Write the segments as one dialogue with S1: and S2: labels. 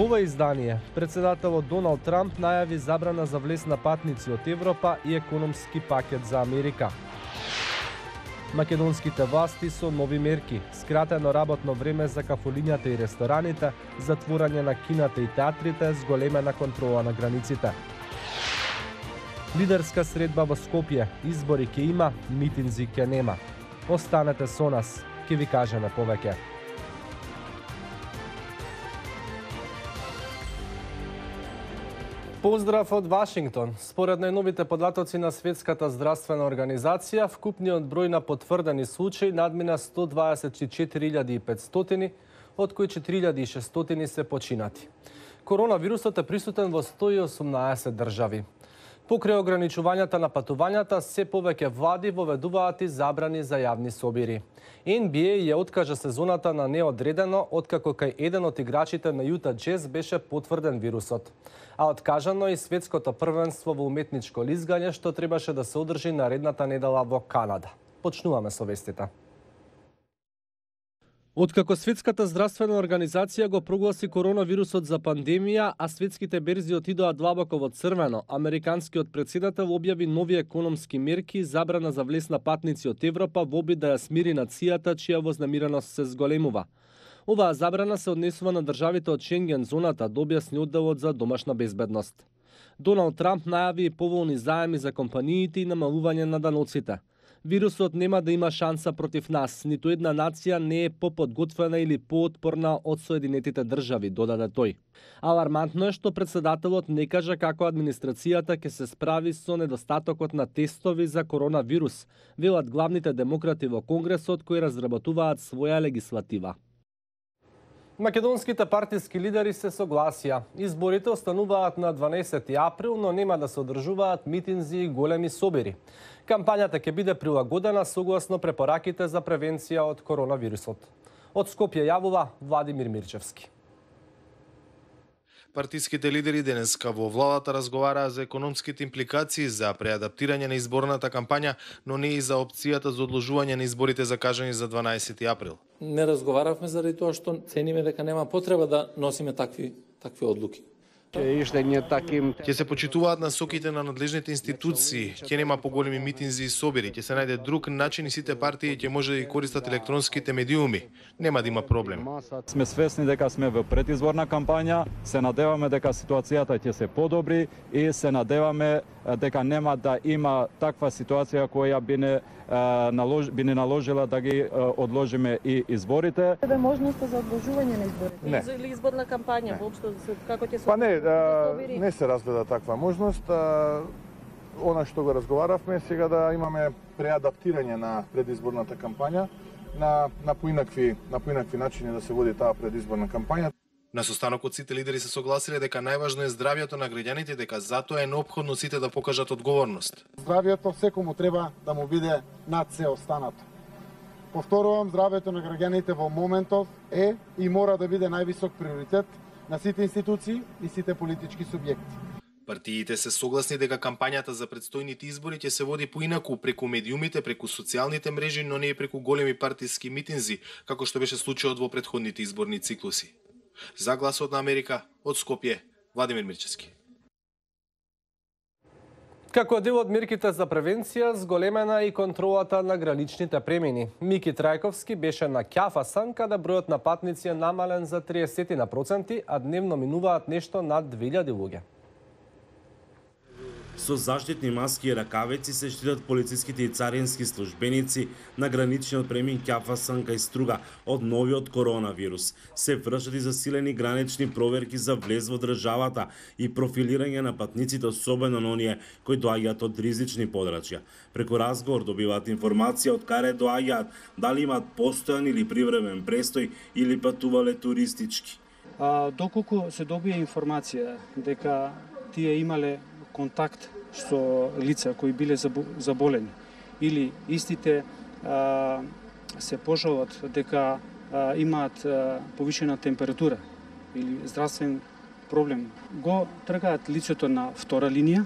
S1: ова издание, председателот Доналд Трамп најави забрана за влез на патници од Европа и економски пакет за Америка. Македонските власти со нови мерки, скратено работно време за кафулињата и рестораните, затворање на кината и театрите, зголемена контрола на границите. Лидерска средба во Скопје, избори ќе има, митинзи ќе нема. Останете со нас, ќе ви кажеме повеќе. Поздрав од Вашингтон. Според најновите податоци на Светската здравствена организација, вкупниот број на потврдени случаи надмина 124.500, од кои 4.600 се починати. Коронавирусот е присутен во 118 држави. Покрај ограничувањата на патувањата, се повеќе влади воведуваат и забрани за јавни собири. NBA ја откажа сезоната на неодредено, откако кај еден од играчите на Јута Джез беше потврден вирусот. А откажано и светското првенство во уметничко лизгање, што требаше да се одржи наредната недела во Канада. Почнуваме со вестите. Откако Светската здравствена организација го прогласи коронавирусот за пандемија, а светските берзи отидоа длабоко во црвено, американскиот претседател објави нови економски мерки и забрана за влез на патници од Европа во обид да ја смири нацијата чија вознемиреност се зголемува. Оваа забрана се однесува на државите од Шенген зоната, да објасни одделот за домашна безбедност. Доналд Трамп најави и поволни заеми за компаниите и намалување на даноците. Вирусот нема да има шанса против нас, ниту една нација не е поподготвена или поотпорна од Соединетите држави, додаде тој. Алармантно е што председателот не кажа како администрацијата ќе се справи со недостатокот на тестови за коронавирус, велат главните демократи во Конгресот кои разработуваат своја легислатива. Македонските партиски лидери се согласија. Изборите остануваат на 12 април, но нема да се одржуваат митинзи и големи собери. Кампањата ќе биде прилагодена согласно препораките за превенција од коронавирусот. Од Скопје јавува Владимир Мирчевски.
S2: Партиските лидери денеска во владата разговараа за економските импликации за преадаптирање на изборната кампања, но не и за опцијата за одложување на изборите закажани за 12 април.
S3: Не разговаравме заради тоа што цениме дека нема потреба да носиме такви одлуки.
S2: Ќе се почитуваат насоките на надлежните институции, ќе нема поголеми митинзи и собери, ќе се најде друг начин и сите партии ќе може да ги користат електронските медиуми. Нема да има проблем.
S4: Сме свесни дека сме во предизборна кампања, се надеваме дека ситуацијата ќе се подобри и се надеваме дека нема да има таква ситуација која би не наложила да ги одложиме и изборите.
S5: Е можноста за одложување на изборите?
S2: Не.
S5: Или изборна кампања воопшто како ќе се
S6: не се разгледа таква можност. Она што го разговаравме сега да имаме преадаптирање на предизборната кампања на поинакви начини да се води таа предизборна кампања.
S2: На состанокот сите лидери се согласиле дека најважно е здравјето на граѓаните, дека затоа е неопходно сите да покажат одговорност.
S7: Здравјето секому треба да му биде над се останато. Повторувам, здравјето на граѓаните во моментов е и мора да биде највисок приоритет на сите институции и сите политички субјекти.
S2: Партиите се согласни дека кампањата за предстојните избори ќе се води поинаку преку медиумите, преку социјалните мрежи, но не и преку големи партиски митинзи, како што беше случајот во претходните изборни циклуси. За Гласот на Америка, од Скопје, Владимир Мирчевски.
S1: Како дел од мерките за превенција, зголемена и контролата на граничните премини. Мики Трајковски беше на Ќафасан, каде бројот на патници е намален за 30%, а дневно минуваат нешто над 2000 луѓе.
S8: Со заштитни маски и ракавици се штитат полициските и царински службеници на граничниот премин Ќафасан кај Струга од новиот коронавирус. Се вршат и засилени гранични проверки за влез во државата и профилирање на патниците, особено на оние кои доаѓаат од ризични подрачја. Преку разговор добиваат информација од каде доаѓаат, дали имаат постојан или привремен престој или патувале туристички.
S9: Доколку се добија информација дека тие имале контакт со лица кои биле заболени или истите се пожалат дека имаат повишена температура или здравствен проблем, го тргаат лицето на втора линија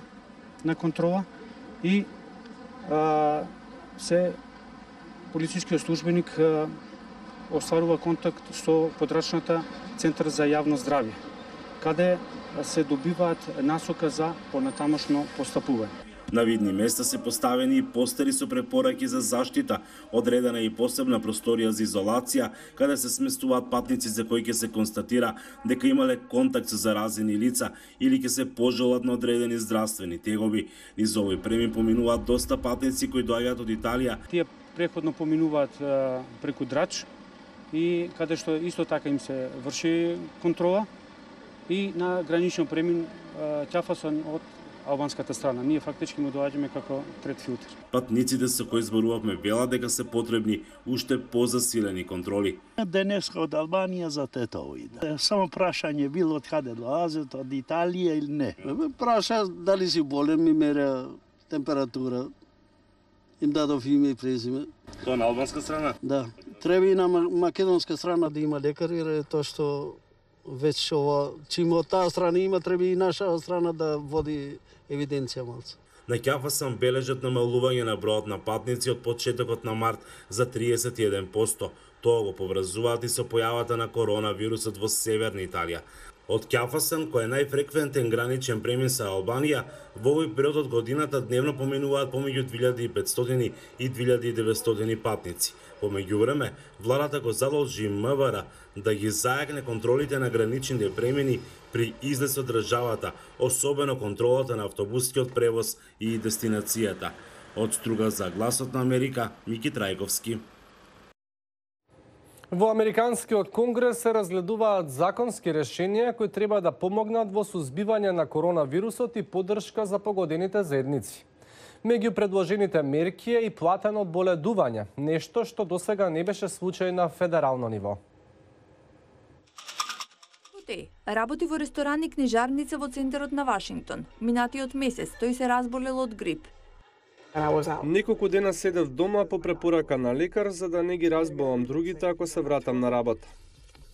S9: на контрола и се полицискиот службеник остварува контакт со подрачната Центар за јавно здравје, каде се добиваат насока за понатамошно постапување.
S8: На видни места се поставени и постери со препораки за заштита, одредена и посебна просторија за изолација, каде се сместуваат патници за кои ќе се констатира дека имале контакт со заразени лица или ќе се пожалат на одредени здравствени тегоби. Низ овој премин поминуваат доста патници кои доаѓаат од Италија.
S9: Тие преходно поминуваат преку Драч и каде што исто така им се врши контрола и на граничен премин Ќафасон од албанската страна. Ние фактички му доаѓаме како трет филтер.
S8: Патниците со кои зборувавме велат дека се потребни уште позасилени контроли.
S10: Денеска од Албанија за тетови. Само прашање било од каде долазат, од Италија или не. Праша дали си болен, ми мере температура. Им дадов име и презиме.
S8: Тоа на албанска страна?
S10: Да. Треба и на македонска страна да има лекари, тоа што веќе ова, чим од таа страна има, треба и наша страна да води евиденција малце.
S8: На Ќафасон бележат намалување на бројот на патници од почетокот на март за 31%. Тоа го поврзуваат и со појавата на коронавирусот во северна Италија. Од Ќафасон, кој е најфреквентен граничен премин со Албанија, во овој период од годината дневно поминуваат помеѓу 2500 и 2900 патници. По меѓувреме, владата го задолжи МВР да ги зајакне контролите на граничните премини при излез од државата, особено контролата на автобускиот превоз и дестинацијата. Од Струга за Гласот на Америка, Мики Трајковски.
S1: Во Американскиот конгрес се разгледуваат законски решенија кои треба да помогнат во сузбивање на коронавирусот и поддршка за погодените заедници. Меѓу предложените мерки е и платено боледување, нешто што досега не беше случај на федерално ниво.
S11: Работи во ресторан и книжарница во центарот на Вашингтон. Минатиот месец тој се разболел од грип.
S1: Неколку дена седев дома по препорака на лекар за да не ги разболам другите ако се вратам на работа.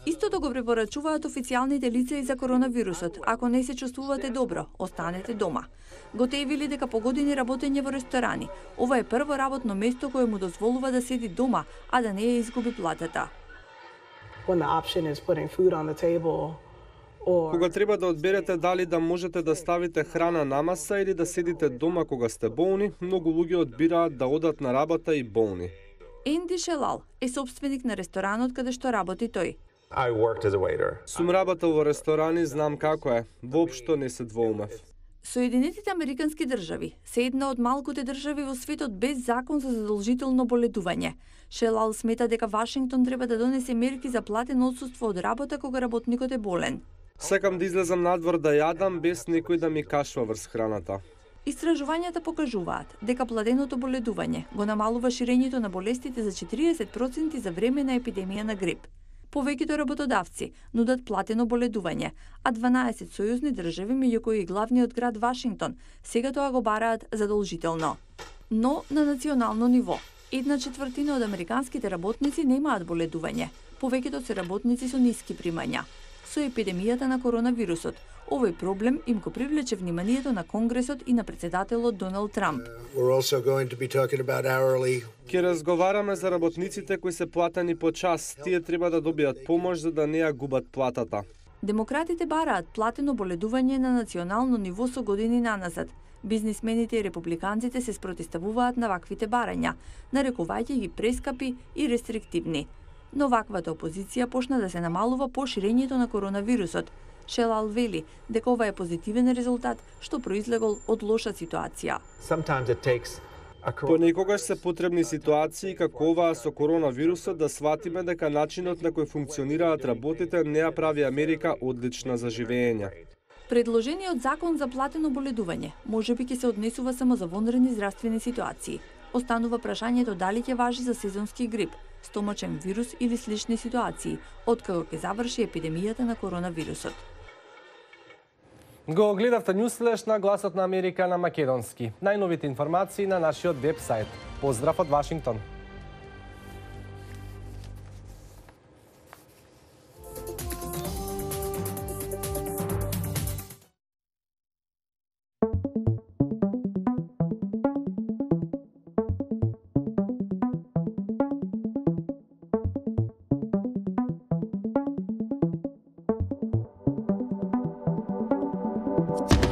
S11: Истото го препорачуваат официјалните лица и за коронавирусот. Ако не се чувствувате добро, останете дома. Готевили дека погодини работење во ресторани. Ова е прво работно место кое му дозволува да седи дома, а да не ја изгуби платата.
S1: Кога треба да одберете дали да можете да ставите храна на маса или да седите дома кога сте болни, многу луѓе одбираат да одат на работа и болни.
S11: Енди Шелал е собственик на ресторанот каде што работи тој.
S1: Сум работел во ресторани, знам како е. Воопшто не се двоумев.
S11: Соединетите Американски држави се една од малкуте држави во светот без закон за задолжително боледување. Шелал смета дека Вашингтон треба да донесе мерки за платено отсуство од работа кога работникот е болен.
S1: Секам да излезам надвор да јадам без некој да ми кашва врз храната.
S11: Истражувањата покажуваат дека платеното боледување го намалува ширењето на болестите за 40% за време на епидемија на грип. Повеќето работодавци нудат платено боледување, а 12 сојузни држави, меѓу кои и главниот град Вашингтон, сега тоа го бараат задолжително. Но на национално ниво, 1/4 од американските работници немаат боледување. Повеќето се работници со ниски примања. Со епидемијата на коронавирусот, овој проблем им го привлече вниманието на Конгресот и на претседателот Доналд Трамп.
S1: Ќе разговараме за работниците кои се платени по час. Тие треба да добијат помош за да не ја губат платата.
S11: Демократите бараат платено боледување на национално ниво со години наназад. Бизнисмените и републиканците се спротивставуваат на ваквите барања, нарекувајќи ги прескапи и рестриктивни. Но ваквата опозиција почна да се намалува по ширењето на коронавирусот. Шелал вели дека ова е позитивен резултат што произлегол од лоша ситуација.
S1: Понекогаш се потребни ситуации како оваа со коронавирусот да сватиме дека начинот на кој функционираат работите не ја прави Америка одлична за живење.
S11: Предложениот закон за платено боледување можеби ќе се однесува само за вонредни здравствени ситуации. Останува прашањето дали ќе важи за сезонски грип, стомачен вирус или слични ситуации, откако ќе заврши епидемијата на коронавирусот.
S1: Го гледавте Њусфлеш на Гласот на Америка на македонски. Најновите информации на нашиот веб-сайт. Поздрав од Вашингтон.
S12: Thank you.